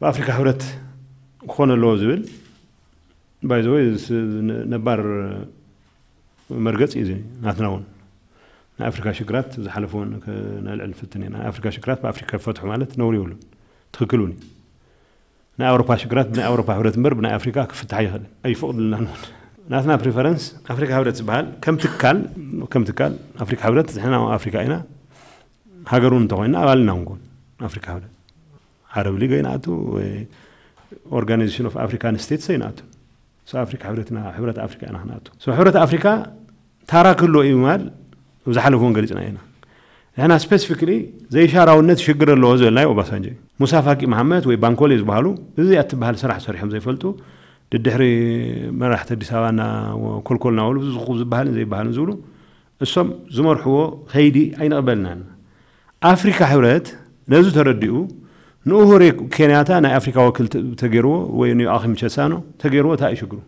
ብኣፍሪካ ሕብረት ክኾነ ኣለዎ ዝብል ባይዘወይ ነባር መርገፂ እዩ። ናትና እውን ናይ ኣፍሪካ ሽግራት ዝሓለፈ እውን ነልዕል ንፍትን ኢና። ናይ ኣፍሪካ ሽግራት ብኣፍሪካ ይፈትሑ ማለት ነውሪ ይብሉን ትክክል እውን እዩ። ናይ ኣውሮፓ ሽግራት ብናይ ኣውሮፓ ሕብረት እምበር ብናይ ኣፍሪካ ክፍታሕ ይኽእል ኣይፈቕድልናን እውን። ናትና ፕሪፈረንስ ኣፍሪካ ሕብረት ዝበሃል ከም ትካል ከም ትካል ኣፍሪካ ሕብረት ንሕና ኣፍሪካ ኢና። ሃገር እውን እንተኮይና ኣባልና ንኮን ኣፍሪካ ሕብረት ዓረብ ሊግ ኣይንኣቱ ወይ ኦርጋናይዜሽን ኦፍ ኣፍሪካን ስቴትስ ኣይንኣቱ። ኣፍሪካ ሕብረትና ሕብረት ኣፍሪካ ኢና ክንኣቱ። ሕብረት ኣፍሪካ ታራ ክህልዎ እዩ ማል ኣብ ዝሓለፉ እውን ገሊፅና ኢና። ንሕና ስፔሲፊክሊ ዘይሻራውነት ሽግር ኣለዎ ዝበልናዮ ኦባሳንጆ እዩ። ሙሳ ፋቂ መሓመድ ወይ ባንኮሌ ዝበሃሉ እዚኣ እትበሃል ስራሕ ሰሪሖም ዘይፈልጡ ድድሕሪ መራሕቲ ኣዲስ ኣበባና ኮልኮልና በሉ ዝኹ ዝበሃልን ዘይበሃልን ዝብሉ እሶም ዝመርሕዎ ከይዲ ኣይንቕበልናን። ኣፍሪካ ሕብረት ነዚ ተረዲኡ ንኡሁሩ ኬንያታ ናይ ኣፍሪካ ወክል ተገይርዎ ወይ ንዮኣኪም ቸሳኖ ተገይርዎ እንታይ እዩ ሽግሩ?